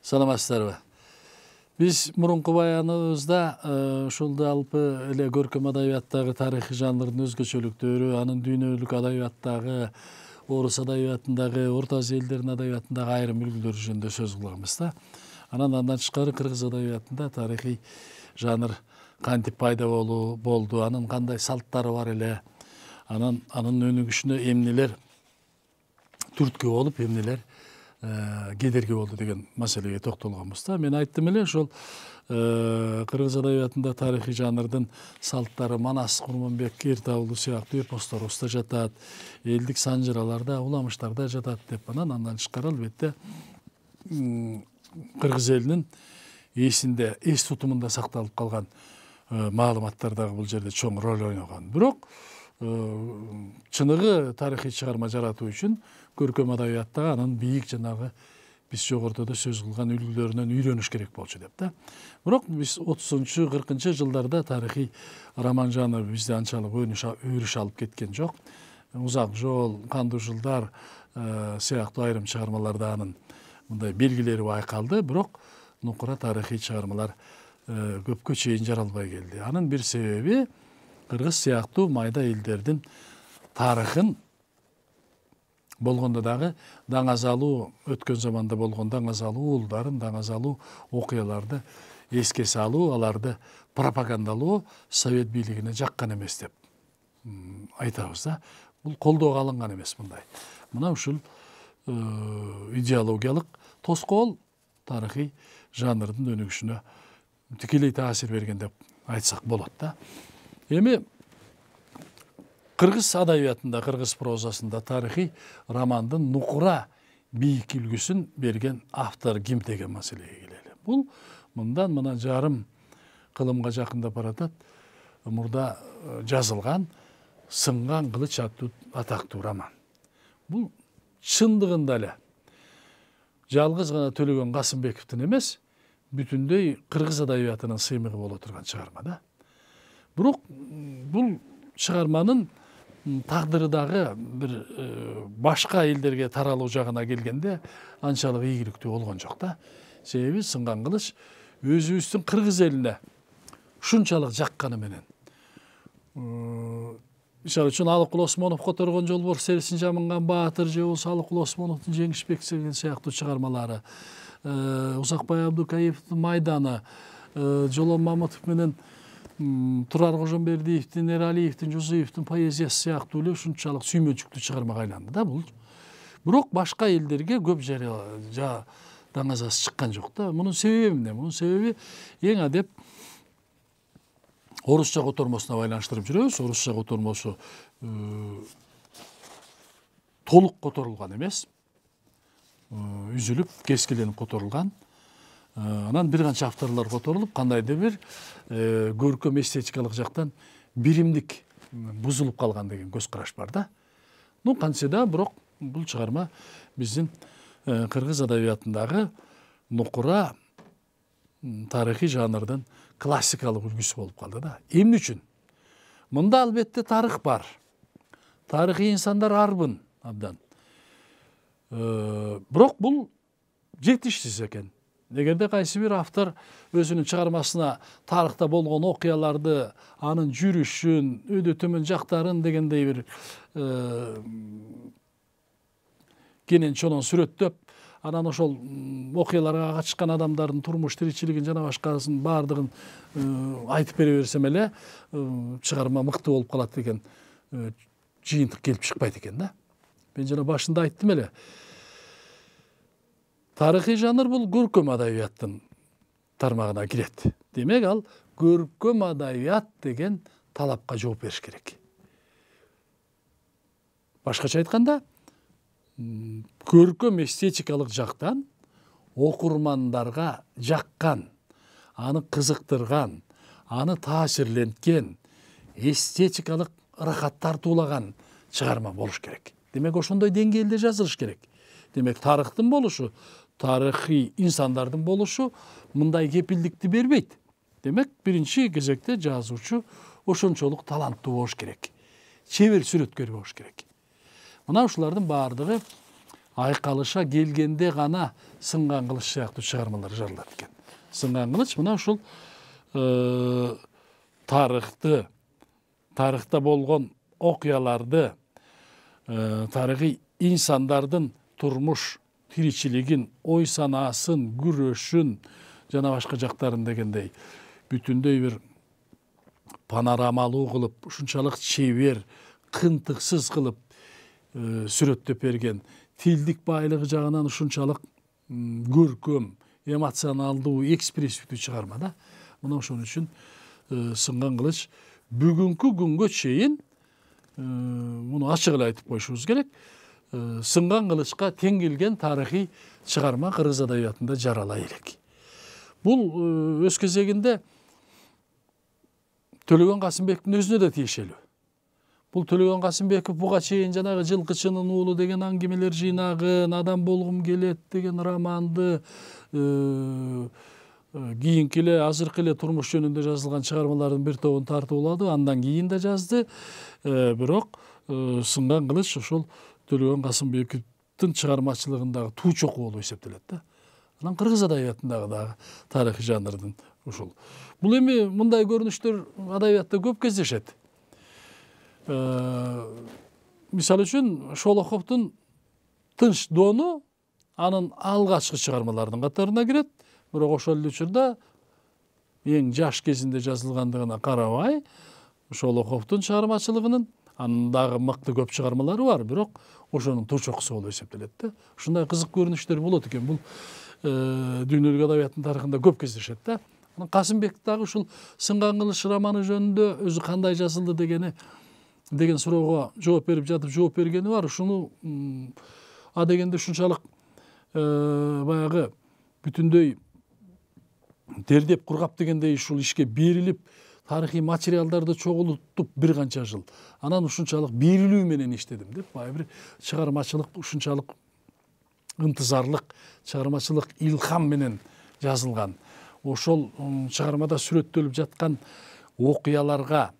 Саламатсыздарбы? Биз мурунку баяныбызда ушул алпы эле көркөм адабияттагы тарыхый жанрдын өзгөчөлүктөрү, анын дүйнөлүк адабияттагы, орус адабиятындагы, Орто Азия элдеринин адабиятындагы айрым үлгүлөр жөнүндө сөз кылганбыз да. Андан тышкары кыргыз адабиятында тарыхый жанр кантип пайда болду, анын кандай салттары бар эле, анын өнүгүшүнө эмнелер түрткү болуп, эмнелер кедерги болду деген маселеге токтолгонбуз да. Мен айттым эле ошол кыргыз адабиятында тарыхый жанрдын салттары Манас Курманбек, Эртаулу сыяктуу эпосторубузда жатат, элдик санжыраларда, уламыштарда жатат деп анан тышкары албетте кыргыз элинин эсинде, эс тутумунда сакталып калган маалыматтар дагы бул жерде чоң роль ойногон. Бирок чыныгы тарыхый чыгарма жаратуу үчүн көркөм адабиятта анын бийик жанагы биз жогоруда да сөз кылган үлгүлөрүнөн үйрөнүш керек болчу деп да. Бирок биз 30-40 жылдарда тарыхый роман жанры бизде анчалык өрүш алып кеткен жок. Узак жол, Кандуу жылдар сыяктуу айрым чыгармаларда анын мындай белгилери байкалды, бирок нукура тарыхый чыгармалар көпкө чейин жаралбай келди. Анын бир себеби кыргыз сыяктуу майда элдердин тарыхын болгондо дагы даңазалуу, өткөн заманда болгон даңазалуу уулдарын, даңазалуу окуяларды эске салуу, аларды пропагандалоо совет бийлигине жаккан эмес деп айтабыз да. Бул колдоого алынган эмес мындай. Мына ушул идеологиялык тоскоол тарыхый жанрдын өнүгүшүнө тикелей таасир берген деп айтсак болот да. Эми кыргыз адабиятында, кыргыз прозасында тарыхый романдын нукура бийик үлгүсүн берген автор ким деген маселеге келели. Бул мына жарым кылымга жакындап баратат. Мурда жазылган Сынган кылыч аттуу атактуу роман. Бул чындыгында эле жалгыз гана Төлөгөн Касымбековдун эмес, бүтүндөй кыргыз адабиятынын сыймыгы боло турган чыгарма да. Бирок бул чыгарманын тагдыры дагы бир башка элдерге таралуу жагына келгенде анчалык ийгиликтүү болгон жок да. Себеби Сынган кылыч өзүбүздүн кыргыз элине ушунчалык жакканы менен. Мисалы үчүн Алыкул Осмонов которгон жолбор серисин жамынган баатыр же болбосо Алыкул Осмоновдун Жеңишбек деген сыяктуу чыгармалары, Узакбай Абдукаевдин Майданы, Жолон Мамытов менен Турар Кожомбердиевдин, Эралиевдин, Жузуевдин поэзиясы сыяктуу эле ушунчалык сүймөнчүктүү чыгармага айланды да бул. Бирок башка элдерге көп даңазасы чыккан жок да. Мунун себеби эмне? Мунун себеби эң адеп орусча котормосуна байланыштырып жүрөбүз. Орусча котормосу толук которулган эмес. Үзүлүп, кескиленип которулган. Анан бир канча авторлор которулуп, кандайдыр бир көркөм эстетикалык жактан биримдик бузулуп калган деген көз караш бар да. Кантсе да, бирок бул чыгарма биздин кыргыз адабиятындагы нукура тарыхый жанрдын классикалык үлгүсү болуп калды да. Эмне үчүн? Мында албетте тарых бар. Тарыхый инсандар арбын абдан. Бирок бул жетишсиз экен. Эгерде кайсы бир автор өзүнүн чыгармасына тарыхта болгон окуяларды, анын жүрүшүн, өйдө төмөн жактарын дегендей бир кенен чонон сүрөттөп, анан ошол окуяларга катышкан адамдардын турмуш тиричилигин жана башкасын баардыгын айтып бере берсем эле чыгарма мыкты болуп калат деген жыйынтык келип чыкпайт экен да. Мен жана башында айттым эле. Тарыхый жанр бул көркөм адабияттын тармагына кирет. Демек ал көркөм адабият деген талапка жооп бериш керек. Башкача айтканда, көркөм эстетикалык жактан окурмандарга жаккан, аны кызыктырган, аны таасирленткен, эстетикалык ырахат тартуулаган чыгарма болуш керек. Демек ошондой деңгээлде жазылыш керек. Демек тарыхтын болушу, тарыхый инсандардын болушу мындай кепилдикти бербейт. Демек биринчи кезекте жазуучу ошончолук таланттуу болуш керек. Чебер сүрөткөр болуш керек. Мына ушулардын баардыгы айкалыша келгенде гана сынган кылыч сыяктуу чыгармалар жазылат экен. Сынган кылыч мына ушул тарыхта болгон окуяларды, тарыхый инсандардын турмуш тиричилигин, ой санаасын, күрөшүн жана башка жактарын дегендей бүтүндөй бир панорамалуу кылып, ушунчалык чебер, кынтыксыз кылып сүрөттөп берген, тилдик байлыгы жагынан ушунчалык көркөм, эмоционалдуу, экспрессивдүү чыгарма да. Мына ошон үчүн сынган кылыч бүгүнкү күнгө чейин муну ачык эле айтып коюшубуз керек. Сынган кылычка тең келген тарыхый чыгарма кыргыз адабиятында жарала элек. Бул өз кезегинде Төлөгөн Касымбековдун өзүнө да тиешелүү. Бул Төлөгөн Касымбеков буга чейин жанагы Жылкычынын уулу деген аңгемелер жыйнагын, Адам болгум келет деген романды, кийинки эле азыркы эле турмуш жөнүндө жазылган чыгармалардын бир тобун тартып алды, андан кийин да жазды. Бирок сынган кылыч ошол Төлөгөн Касымбековдун чыгармачылыгындагы туу чокуу болуп эсептелет да. Анан кыргыз адабиятындагы дагы тарыхый жанрдын ушул. Бул эми мындай көрүнүштөр адабиятта көп кездешет. Мисалы үчүн Шолоховдун Тынч доону анын алгачкы чыгармаларынын катарына кирет. Бирок ошол эле учурда эң жаш кезинде жазылгандыгына карабай, Шолоховдун чыгармачылыгынын анын дагы мыкты көп чыгармалары бар, бирок ошонун туу чокусу болуп эсептелет да. Ушундай кызык көрүнүштөр болот экен. Бул дүйнөлүк адабияттын тарыхында көп кездешет да. Касымбек дагы ушул Сынган кылыч романы жөнүндө өзү кандай жазылды деген суроого жооп берип жатып жооп бергени бар. Ушуну дегенде ушунчалык баягы бүтүндөй тердеп кургап дегендей ушул ишке берилип, тарыхый материалдарды чогултуп бир канча жыл. Анан ушунчалык берилүү менен иштедим деп, баягы бир чыгармачылык ушунчалык ынтызарлык, чыгармачылык илхам менен жазылган. Ошол чыгармада сүрөттөлүп жаткан окуяларга,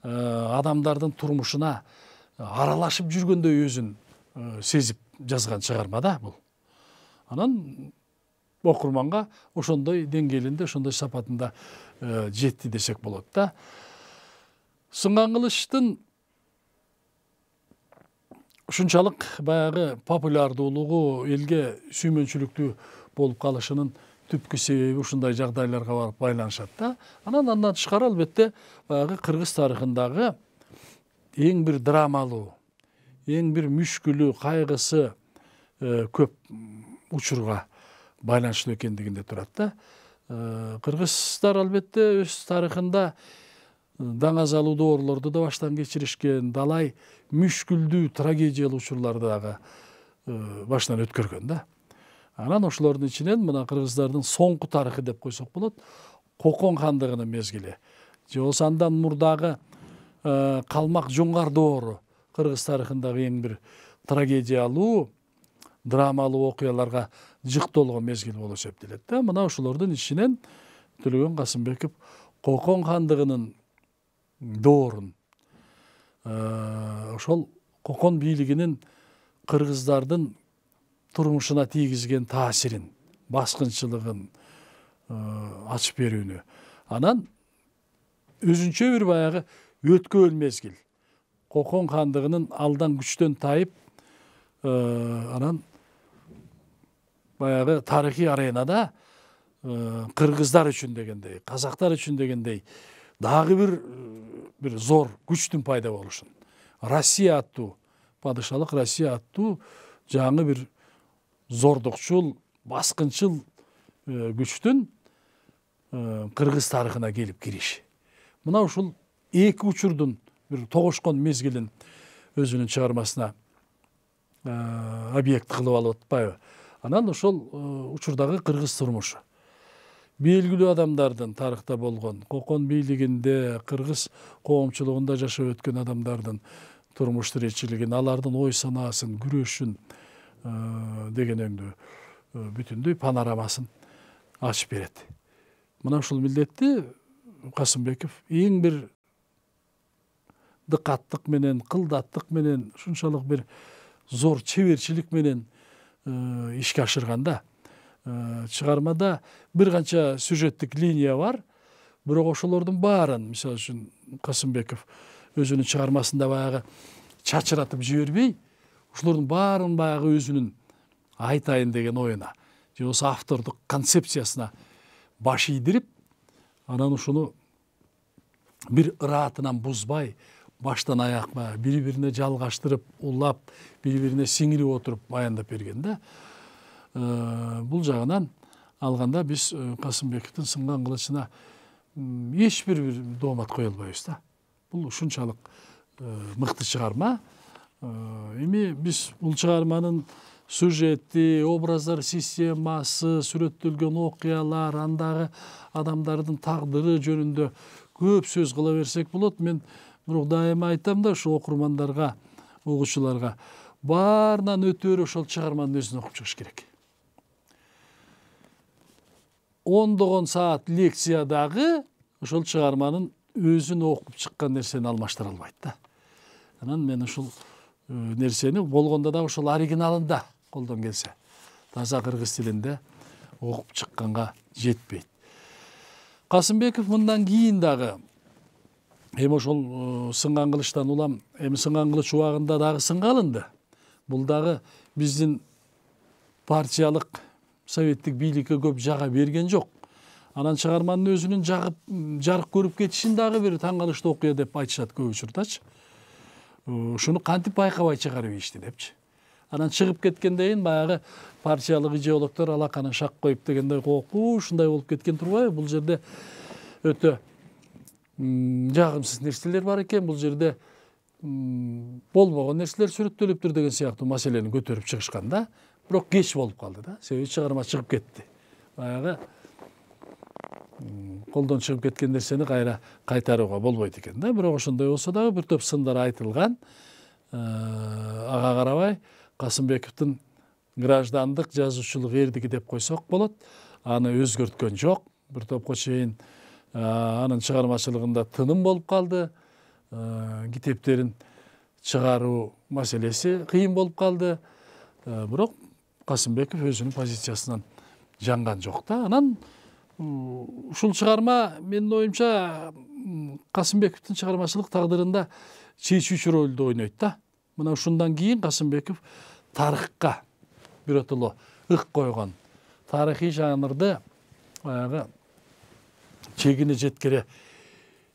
адамдардын турмушуна аралашып жүргөндөй өзүн сезип жазган чыгарма да бул. Анан окурманга ошондой деңгээлинде, ошондой сапатында жетти десек болот да. Сынган кылычтын ушунчалык баягы популярдуулугу, элге сүймөнчүлүктүү болуп калышынын түпкү себеби ушундай жагдайларга барып байланышат да. Андан тышкары албетте баягы кыргыз тарыхындагы эң бир драмалуу, эң бир мүшкүлүү, кайгысы көп учурга байланыштуу экендигинде турат да. Кыргыздар албетте өз тарыхында даңазалуу доорлорду да баштан кечиришкен, далай мүшкүлдүү, трагедиялуу учурларды дагы баштан өткөргөн да. Анан ошолордун ичинен мына кыргыздардын соңку тарыхы деп койсок болот, Кокон хандыгынын мезгили. Же болбосо андан мурдагы Калмак Жоңгар доору кыргыз тарыхындагы эң бир трагедиялуу, драмалуу окуяларга жыктолгон мезгил болуп эсептелет да. Мына ошолордун ичинен Төлөгөн Касымбеков Кокон хандыгынын доорун, ошол Кокон бийлигинин кыргыздардын турмушуна тийгизген таасирин, баскынчылыгын ачып берүүнү. Анан өзүнчө бир баягы өткөөл мезгил. Кокон хандыгынын алдан күчтөн тайып, анан баягы тарыхый аренада кыргыздар үчүн дегендей, казактар үчүн дегендей дагы бир зор күчтүн пайда болушун. Россия аттуу, падышалык Россия аттуу жаңы бир зордукчул, баскынчыл күчтүн кыргыз тарыхына келип кириши. Мына ушул эки учурдун бир тогошкон мезгилин өзүнүн чыгармасына объект кылып алып атпайбы? Анан ошол учурдагы кыргыз турмушу, белгилүү адамдардын тарыхта болгон, Кокон бийлигинде, кыргыз коомчулугунда жашап өткөн адамдардын турмуш тиричилигин, алардын ой санаасын, күрөшүн дегенеңдүү бүтүндөй панорамасын ачып берет. Мына ушул милдетти Касымбеков эң бир дыкаттык менен, кылдаттык менен, ушунчалык бир зор чеберчилик менен ишке ашырганда. Чыгармада бир канча сюжеттик линия бар, бирок ошолордун баарын, мисалы үчүн Касымбеков өзүнүн чыгармасында баягы чачыратып жибербей, ошолордун баарын баягы өзүнүн айтайын деген оюна же болбосо автордук концепциясына баш ийдирип, анан ушуну бир ыраатынан бузбай, баштан аякка бири-бирине жалгаштырып, улап, бири-бирине сиңирип отуруп баяндап берген да. Бул жагынан алганда биз Касымбековдун Сынган кылычына эч бир доомат кое албайбыз да. Бул ушунчалык мыкты чыгарма. Эми биз бул чыгарманын сюжети, образдар системасы, сүрөттөлгөн окуялар, андагы адамдардын тагдыры жөнүндө көп сөз кыла берсек болот. Мен бирок дайыма айтам да, ушу окурмандарга, угуучуларга баарынан өтөрү ошол чыгарманын өзүн окуп чыгыш керек. Ондогон саат лекциядагы ошол чыгарманын өзүн окуп чыккан нерсени алмаштыра албайт да. Анан мен ушул нерсени болгондо да ошол оригиналында колдон келсе, таза кыргыз тилинде окуп чыкканга жетпейт. Касымбеков мындан кийин дагы эми ошол Сынган кылычтан улам, эми Сынган кылыч убагында дагы сынга алынды. Бул дагы биздин партиялык советтик бийликке көп жага берген жок. Анан чыгарманын өзүнүн жарык көрүп кетишин дагы бир таң калыштуу окуя деп айтышат көп учурдачы. Ушуну кантип байкабай чыгарып ийишти депчи. Анан чыгып кеткенден кийин баягы партиялык идеологдор алаканы шак коюп дегендей ушундай болуп кеткен турбайбы? Бул жерде өтө жагымсыз нерселер бар экен, бул жерде болбогон нерселер сүрөттөлүптүр деген сыяктуу маселени көтөрүп чыгышкан да. Бирок кеч болуп калды да. Себеби чыгарма чыгып кетти. Баягы колдон чыгып кеткен нерсени кайра кайтарууга болбойт экен да. Бирок ошондой болсо дагы бир топ сындар айтылган. Ага карабай Касымбековдун граждандык жазуучулук эрдиги деп койсок болот. Аны өзгөрткөн жок. Бир топко чейин анын чыгармачылыгында тыным болуп калды. Китептерин чыгаруу маселеси кыйын болуп калды. Бирок Касымбеков өзүнүн позициясынан жанган жок да. Анан ушул чыгарма менин оюмча Касымбековдун чыгармачылык тагдырында чечүүчү ролду ойнойт да. Мына ушундан кийин Касымбеков тарыхка биротоло ык койгон, тарыхый жанрды баягы чегине жеткере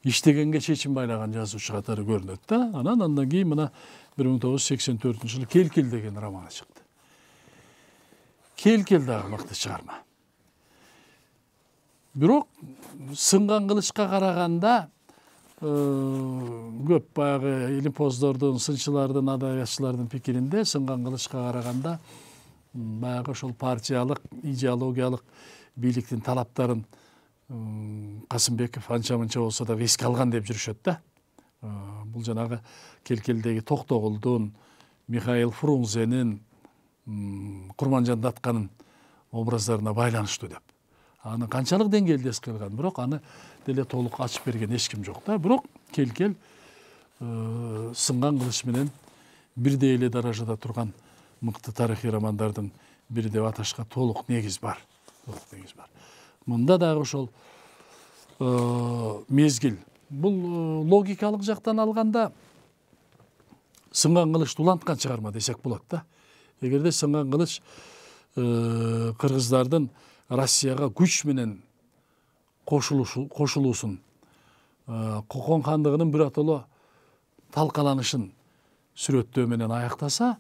иштегенге чечим байлаган жазуучу катары көрүнөт да. Андан кийин мына 1984-жылы Келкел деген романы чыкты. Келкел дагы мыкты чыгарма. Бирок Сынган кылычка караганда көп баягы илимпоздордун, сынчылардын, адабиятчылардын пикиринде Сынган кылычка караганда баягы ошол партиялык, идеологиялык бийликтин талаптарын Касымбеков анча-мынча болсо да эске алган деп жүрүшөт да. Бул жанагы Келкелдеги Токтогулдун, Михаил Фрунзенин, Курманжан Датканын образдарына байланыштуу деп. Аны канчалык деңгээлде эске алган, бирок аны деле толук ачып берген эч ким жок да. Бирок Келкел Сынган кылыч менен бирдей эле даражада турган мыкты тарыхый романдардын бири деп аташка толук негиз бар. Мында дагы ошол мезгил. Бул логикалык жактан алганда Сынган кылычты уланткан чыгарма десек болот да. Эгерде Сынган кылыч кыргыздардын Россияга күч менен кошулуусун, Кокон хандыгынын биротоло талкаланышын сүрөттөө менен аяктаса,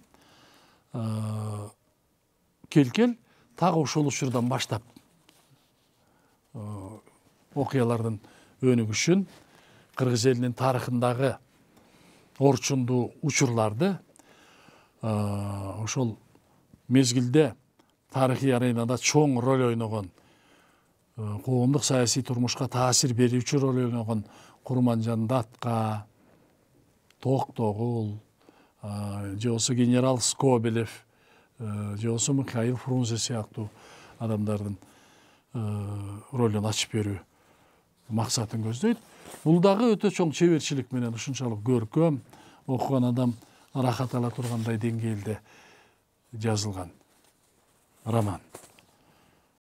Келкел так ошол учурдан баштап окуялардын өнүгүшүн, кыргыз элинин тарыхындагы орчундуу учурларды ошол мезгилде тарыхый аренада чоң роль ойногон, коомдук саясий турмушка таасир берүүчү роль ойногон Курманжан Датка, Токтогул, же болбосо генерал Скобелев, же болбосо Михаил Фрунзе сыяктуу адамдардын ролун ачып берүү максатын көздөйт. Бул дагы өтө чоң чеберчилик менен ушунчалык көркөм, окуган адам рахат ала тургандай деңгээлде жазылган. роман.